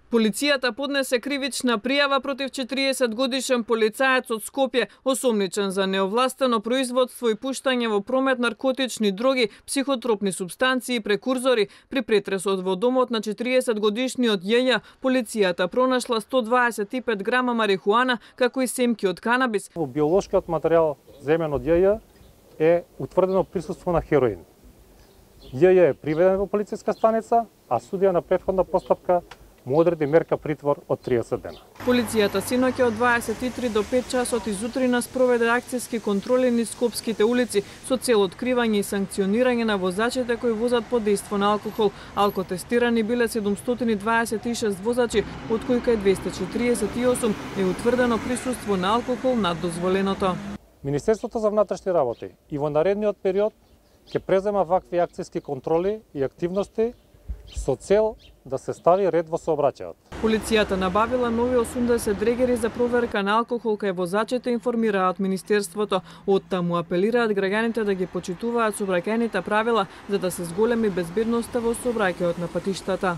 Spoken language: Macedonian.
Полицијата поднесе кривична пријава против 40-годишен полицаец од Скопје, осомничен за неовластено производство и пуштање во промет наркотични дроги, психотропни супстанции и прекурзори. При претресот во домот на 40-годишниот Јеја, полицијата пронашла 125 грама марихуана, како и семки од канабис. Во биолошкиот материјал земен од Јеја е утврдено присуство на хероин. Јеја е приведен во полициска станица, а судија на претходна постапка му одреди мерка притвор од 30 дена. Полицијата синоќа од 23 до 5 часот изутрина спроведе акцијски контроли низ скопските улици со цел откривање и санкционирање на возачите кои возат под дејство на алкохол. Алкотестирани биле 726 возачи, од кои кај 248 е утврдено присуство на алкохол над дозволеното. Министерството за внатрешни работи и во наредниот период ќе презема вакви акцијски контроли и активности со цел да се стави ред во сообраќајот. Полицијата набавила нови 80 дрегери за проверка на алкохол кај возачите, информираат Министерството. Оттаму апелираат граѓаните да ги почитуваат сообраќајните правила за да се зголеми безбедноста во сообраќајот на патиштата.